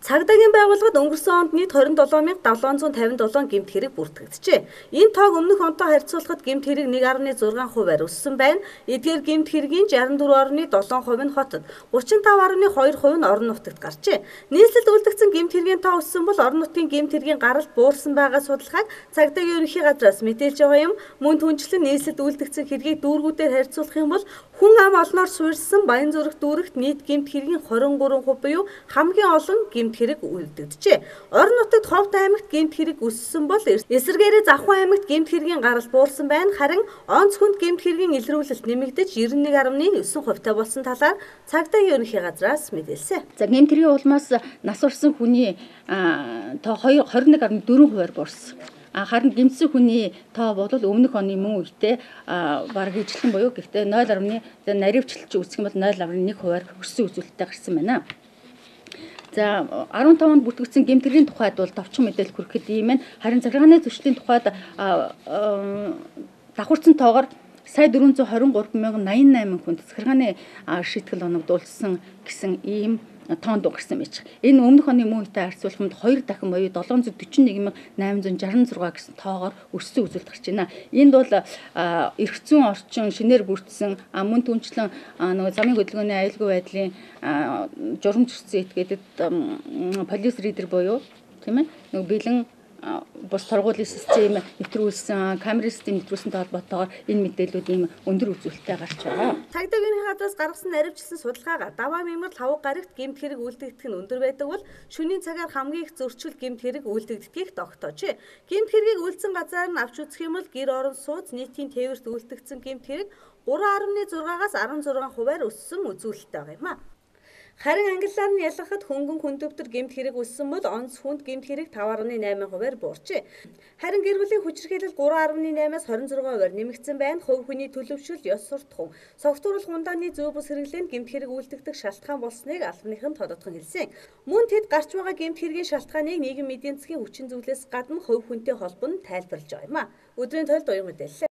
Цагдаагийн байгууллагад өнгөрсөн онд нийт 27,757 гэмт хэрэг бүртгэгджээ. Энэ тоог өмнөх онтой харьцуулахад гэмт хэрэг 1.6%-аар өссөн байна. Эдгээр гэмт хэргийн 64.7% нь хотод, 35.2% нь орон нутагт гарчээ. Нийслэлд үлдэгдсэн гэмт хэргийн тоо өссөн бол орон нутгийн гэмт хэргийн гаралт буурсан байгаа судалгааг Цагдаагийн ерөнхий газраас мэдээлж байгаа юм. Мөн түнчлэн нийслэлд үлдэгдсэн хэргийг дүүргүүдээр харьцуулах юм бол хүн ам олноор суурьсан Баянзүрх дүүрэгт нийт гэмт хэргийн 23% буюу хамгийн олон гэмт хэрэг үлдэгджээ. Орон нутагт Ховд аймагт гэмт хэрэг өссөн бол эсвэргээрээ Завхан аймагт гэмт хэргийн гарал буурсан байна. Харин онц хүнд гэмт хэргийн илрүүлэлт нэмэгдэж 91.9% болсон талаар Цагдаагийн ерөнхий газраас мэдээлсэн. За гэмт хэргийн улмаас нас урсан хүний тоо 21.4%-аар буурсан. Харин гэмтсэн хүний тоо бол өмнөх оны мөн үедээ бараг ижилхэн буюу гэхдээ 0.0 наривчлж үүсэх юм бол 0.1%-аар өссөн үзүүлэлттэй гарсан байна. За 15 онд бүртгэгдсэн гэмт хэргийн тухайд бол товчхон мэдээлэл хүрэхэд ийм байна. Харин захиргааны зөрчлийн тухайд давхарцсан тоогоор сая 423,088 хүнд захиргааны шийтгэл оногдуулсан гэсэн ийм тоонд гарсан байж. Энэ өмнөх оны мөн үетэй харьцуулахад 2 дахин буюу 741,866 гэсэн тоогоор өссөн үзүүлэлт гарч байна. Энд бол эрх зүйн орчин шинээр бүрдсэн мөн түнчлэн нөгөө замын хөдөлгөөний аюулгүй байдлын журам зөрчсөн этгээдэд полис ридер буюу тийм ээ нөгөө бэлэн бус торгуулийн систем нэвтрүүлсэн, камерын систем нэвтрүүлсэнтэй холбоотойгоор энэ мэдээлүүд ийм өндөр үзүүлэлттэй гарч байгаа. Цагдаагийн ерөнхий газраас гаргасан наривчлсан судалгаагаар даваа мэмэрл хаваг гарагт гэмт хэрэг үлдэгдэх нь өндөр байдаг бол шөнийн цагаар хамгийн их зөрчил гэмт хэрэг үлдэгддгийг тогтоожээ. Гэмт хэргийг үлдсэн газар нь авч үзэх юм бол гэр орон сууц нийтийн тээвэрт үлдэгдсэн гэмт хэрэг 3.6-аас 16%-аар өссөн үзүүлэлттэй байгаа юм а. Харин англиар нь ялгахад хөнгөн хүндөвтөр гэмт хэрэг өссөн бол онц хүнд гэмт хэрэг 5.8%-аар буурчээ. Харин гэр бүлийн хүчирхийлэл 3.8-аас 26%-аар нэмэгдсэн байна. Хувь хүний төлөвшөл, ёс суртахуун, согтууруулах ундааны зүй бус хэрэглээнд гэмт хэрэг үлдэгдэх шалтгаан болсныг албаныхан тодотхон хэлсэн. Мөн тэд гарч байгаа гэмт хэргийн шалтгааныг нийгэм эдийн засгийн хүчин зүйлээс гадна хувь хүнтэй холбон тайлбарлаж байгаа юм а. Өдрийн тойлд уян мэдээлэл.